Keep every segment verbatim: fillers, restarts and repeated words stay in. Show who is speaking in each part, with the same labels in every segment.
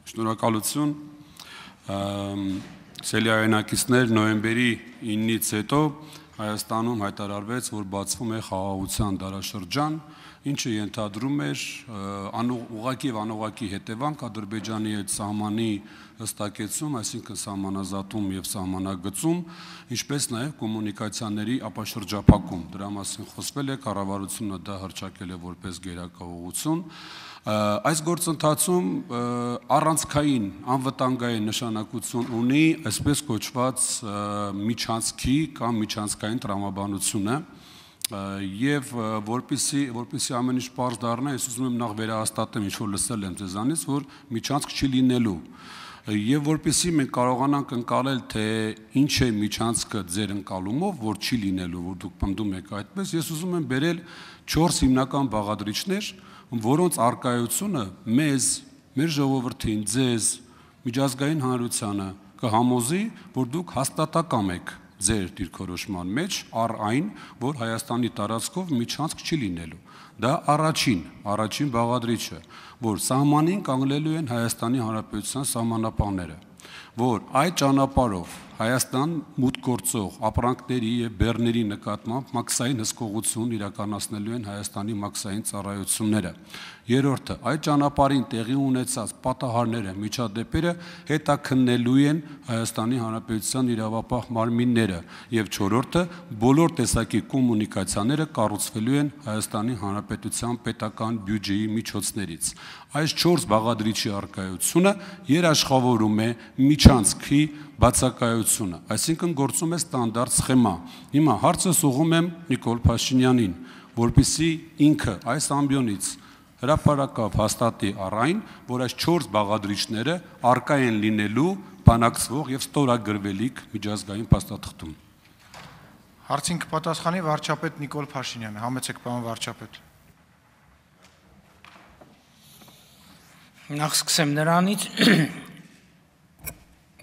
Speaker 1: Շնորհակալություն։ Սելյայնակիցներ նոյեմբերի իննից հետո Հայաստանում հայտարարվեց, որ բացվում է խաղաղության դարաշրջան, ինչը ենթադրում էր ուղղակի եւ անուղղակի հետևանք Ադրբեջանի հետ սահմանի հստակեցում, այսինքն սահմանազատում եւ սահմանագծում, ինչպես նաեւ կոմունիկացիաների ապաշրջափակում։ Դրա մասին խոսվել է, կառավարությունը դա հռչակել է որպես գերակա ուղղություն։ Այս գործընթացում առանցքային անվտանգային նշանակություն ունի այսպես կոչված միջանցքի կամ միջանցքային տրամաբանությունը եւ որպեսզի որպեսզի ամեն ինչ պարզ դառնա, ես ուզում եմ նախ վերահաստատեմ, ինչ որ լսել եմ ձեզանից, որ միջանցք չի լինելու եւ որպեսզի մենք կարողանանք ընկալել, թե ինչ է միջանցքը ձեր ընկալումով, որ չի լինելու, որ դուք պնդում եք այդպես, ես ուզում եմ բերել չորս հիմնական բաղադրիչներ, որոնց արկայությունը մեզ, մեր ժողովրդին, ձեզ, միջազգային հանրությանը կհամոզի, որ դուք հաստատակամ եք ձեր դիրքորոշման մեջ առ այն, որ Հայաստանի տարածքով միջանցք չի լինելու։ Դա առաջին, առաջին բաղադրիչը, որ սահմանին կանգնելու են Հայաստանի Հանրապետության սահմանապահները, որ այդ ճանապարհով Հայաստան մուտք գործող ապրանքների եւ բեռների նկատմամբ մաքսային հսկողություն իրականացնելու են Հայաստանի մաքսային ծառայությունները։ Երրորդը, այդ ճանապարհին տեղի ունեցած պատահարները, միջադեպերը հետաքննելու են Հայաստանի Հանրապետության իրավապահ մարմինները եւ չորրորդը, բոլոր տեսակի կոմունիկացիաները կառուցվելու են Հայաստանի Հանրապետության պետական բյուջեի միջոցներից։ Այս չորս բաղադրիչի արկայությունը երաշխավորում է միջանցքի բացակայությունը, այսինքն գործում է ստանդարտ սխեմա։ Հիմա հարցս ուղղում եմ Նիկոլ Փաշինյանին, որպեսզի ինքը այս ամբիոնից հրապարակավ հաստատի առ այն, որ այս չորս բաղադրիչները արկա են լինելու բանակցվող եւ ստորագրվելիք միջազգային փաստաթղթում։
Speaker 2: Հարցին կպատասխանի վարչապետ Նիկոլ Փաշինյանը, համեցեք պարոն վարչապետ։
Speaker 3: Նախ սկսեմ նրանից,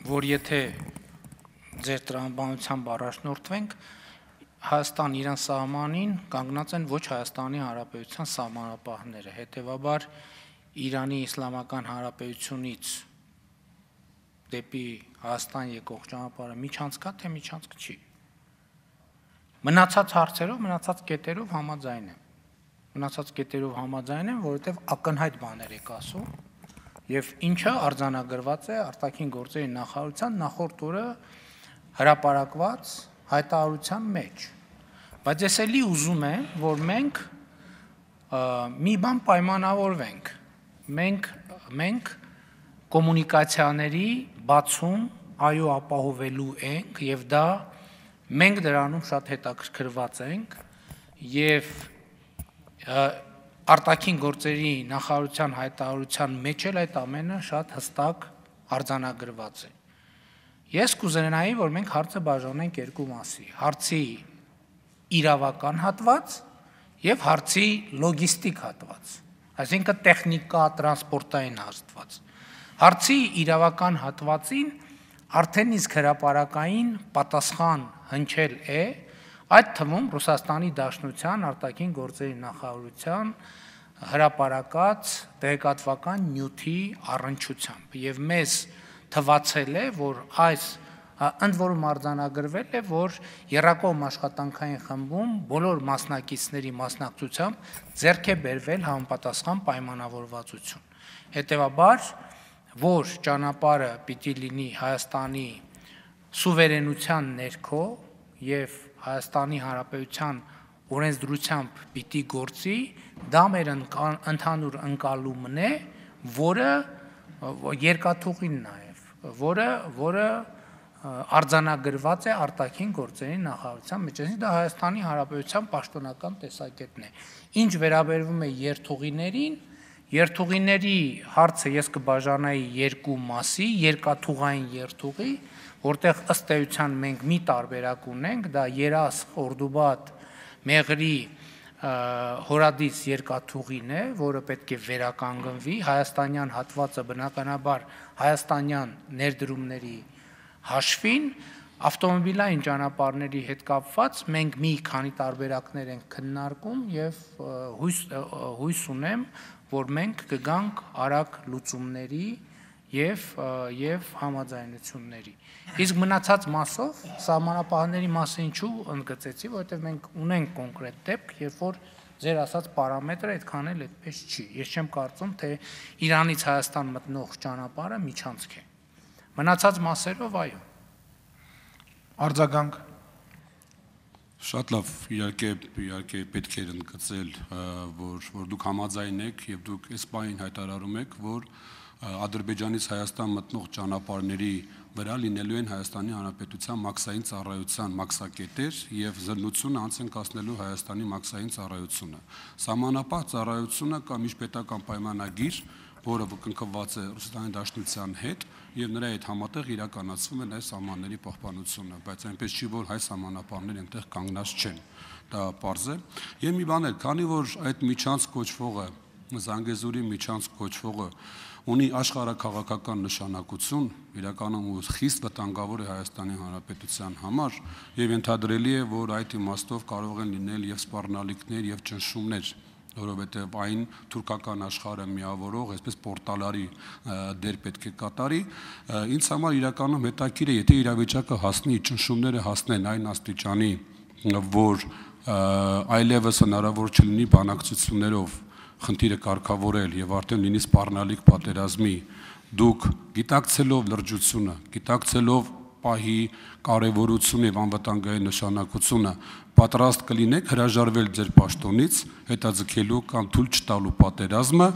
Speaker 3: որ եթե ձեր տրամաբանությամբ առաջնորդվենք, Հայաստան իրան սահմանին կանգնած են ոչ Հայաստանի Հանրապետության սահմանապահները, հետևաբար Իրանի Իսլամական Հանրապետությունից դեպի Հայաստան եկող ճանապարհը միջանցքա, թե միջանցք չի։ Մնացած հարցերով, մնացած կետերով համաձայն եմ։ Մնացած կետերով համաձայն եմ, որովհետև ակնհայտ բաներ եք ասում, եւ ինչը արձանագրված է արտաքին գործերի նախարարության նախորդ օրը հրապարակված հայտարարության մեջ։ Բայց ես էլի ուզում եմ, որ մենք մի բան պայմանավորվենք։ Մենք մենք կոմունիկացիաների բացում այո ապահովելու ենք եւ դա մենք դրանում շատ հետաքրքրված ենք եւ արտաքին գործերի նախարարության հայտարարության մեջ էլ այդ ամենը շատ հստակ արձանագրված է։ Ես կուզենայի, որ մենք հարցը բաժանենք երկու մասի՝ հարցի իրավական հատված եւ հարցի լոգիստիկ հատված, այսինքն տեխնիկա, տրանսպորտային հատված։ Հարցի իրավական հատվածին արդեն իսկ հրապարակային պատասխան հնչել է, այդ թվում Ռուսաստանի Դաշնության արտաքին գործերի նախարարության հրապարակած տեղեկատվական նյութի առնչությամբ եւ մեզ թվացել է, որ այս ընդ որում արձանագրվել է, որ Եռակողմ աշխատանքային խմբում բոլոր մասնակիցների մասնակցությամբ ձեռք է բերվել համապատասխան պայմանավորվածություն։ Հետևաբար, որ ճանապարհը պիտի լինի Հայաստանի սուվերենության ներքո եւ Հայաստանի Հանրապետության օրենսդրությամբ պիտի գործի, դա մեր ընդհանուր ընկալումն է, որը երկաթուղին նաեւ, որը որը արձանագրված է արտաքին գործերի նախարարության մեջ, դա Հայաստանի Հանրապետության պաշտոնական տեսակետն է։ Ինչ վերաբերվում է երթուղիներին, երթուղիների հարցը ես կբաժանայի երկու մասի, երկաթուղային երթուղի, որտեղ ըստ էության մենք մի տարբերակ ունենք, դա Երաս, Խորդուբադ, Մեղրի հորադից երկաթուղին է, որը պետք է վերականգնվի, հայաստանյան հատվածը բնականաբար հայաստանյան ներդրումների հաշվին, ավտոմոբիլային ճանապարհների հետ կապված մենք մի քանի տարբերակներ ենք քննարկում եւ հույս հույս ունեմ, որ մենք կգանք արագ լուծումների եւ եւ համաձայնությունների։ Իսկ մնացած մասով սահմանապահների մասը ինչու ընդգծեցի, որովհետեւ մենք ունենք կոնկրետ դեպք, երբ որ ձեր ասած պարամետրը այդքան էլ այդպես չի։ Ես չեմ կարծում, թե Իրանից Հայաստան մտնող ճանապարհը միջանցք է։ Մնացած մասերով այո։
Speaker 2: Արձագանք։
Speaker 1: Շատ լավ, իհարկե, իհարկե պետք է ընդգծել, որ որ դուք համաձայն եք եւ դուք այս բանին հայտարարում եք, որ Ադրբեջանից Հայաստան մտնող ճանապարհների վրա լինելու են Հայաստանի Հանրապետության մաքսային ծառայության մաքսակետեր եւ զննությունը անց են կասնելու Հայաստանի մաքսային ծառայությունը։ Սահմանապահ ծառայությունը կա միջպետական պայմանագիր, որը կնքված է Ռուսաստանի Դաշնության հետ եւ նրա հետ համատեղ իրականացվում է այս սահմանների պահպանությունը, բայց այնպես չի, որ հայ սահմանապահները այնտեղ կանգնած չեն։ Դա պարզ է։ Եվ մի բան էլ, քանի որ այդ միջանց կոչվողը, Զանգեզուրի միջանց կոչվողը ունի աշխարհաքաղաքական նշանակություն, իրականում խիստ վտանգավոր է Հայաստանի Հանրապետության համար եւ ենթադրելի է, որ այդ իմաստով կարող են լինել եւ սպառնալիքներ եւ ճնշումներ, որովհետեւ այն թուրքական աշխարհը միավորող, այսպես պորտալարի դեր պետք է կատարի, ինձ համար իրականում հետաքրքիր է, եթե իրավիճակը հասնի, ճնշումները հասնեն այն աստիճանի, որ այլևս հնարավոր չլինի բանակցություններով խնդիրը կարգավորել եւ արդեն լինի սպառնալիք պատերազմի, դուք գիտակցելով լրջությունը, գիտակցելով պահի կարևորությունը եւ անվտանգային նշանակությունը, պատրաստ կլինեք հրաժարվել ձեր պաշտոնից, հետաձգելու կամ թույլ չտալու պատերազմը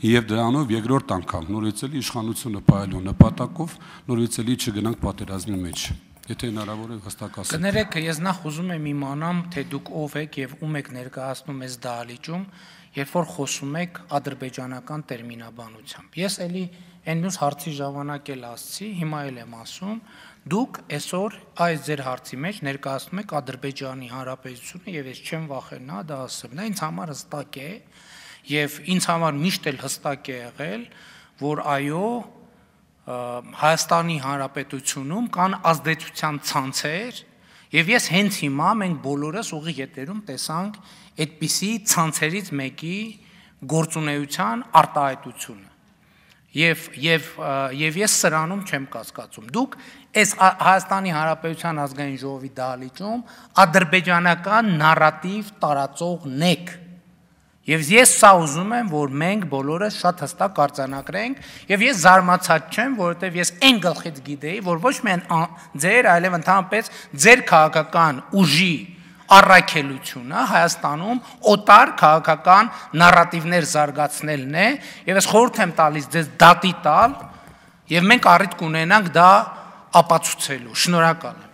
Speaker 1: եւ դրանով երկրորդ անգամ նորից էլի իշխանությունը պահելու նպատակով նորից էլի չգնանք պատերազմի մեջ։ Եթե հնարավոր է հստակ ասեք։
Speaker 3: Կներեք, ես նախ ուզում եմ իմանամ, թե դուք ով եք եւ ում եք ներկայացնում այս դահլիճում, երբ որ խոսում եք ադրբեջանական տերմինաբանությամբ։ Ես էլի այն մյուս հարցի ժամանակ էլ ասացի, հիմա էլ եմ ասում, դուք այսօր այս ձեր հարցի մեջ ներկայացնում եք Ադրբեջանի Հանրապետությունը եւ ես չեմ վախենա դա ասեմ։ Դա ինձ համար հստակ է եւ ինձ համար միշտ էլ հստակ է եղել, որ այո, Հայաստանի Հանրապետությունում կան ազդեցության ցանցեր եւ ես հենց հիմա մենք բոլորս ուղիղ եթերում տեսանք այդպիսի ցանցերից մեկի գործունեության արտահայտությունը եւ եւ եւ ես սրանում չեմ կասկածում դուք այս Հայաստանի Հանրապետության ազգային ժողովի դահլիճում ադրբեջանական նարատիվ տարածողն եք Եվ ես սա ուզում եմ, որ մենք բոլորս շատ հստակ արձանագրենք, եւ ես զարմացած չեմ, որովհետեւ ես այն գլխից գիտեի, որ ոչ միայն ձեր, այլև ընդհանրապես ձեր քաղաքական ուժի առաքելությունը Հայաստանում օտար քաղաքական նարատիվներ զարգացնելն է, եւ ես խորհուրդ եմ տալիս ձեզ դատի տալ, եւ մենք առիթ կունենանք դա ապացուցելու։ Շնորհակալ եմ։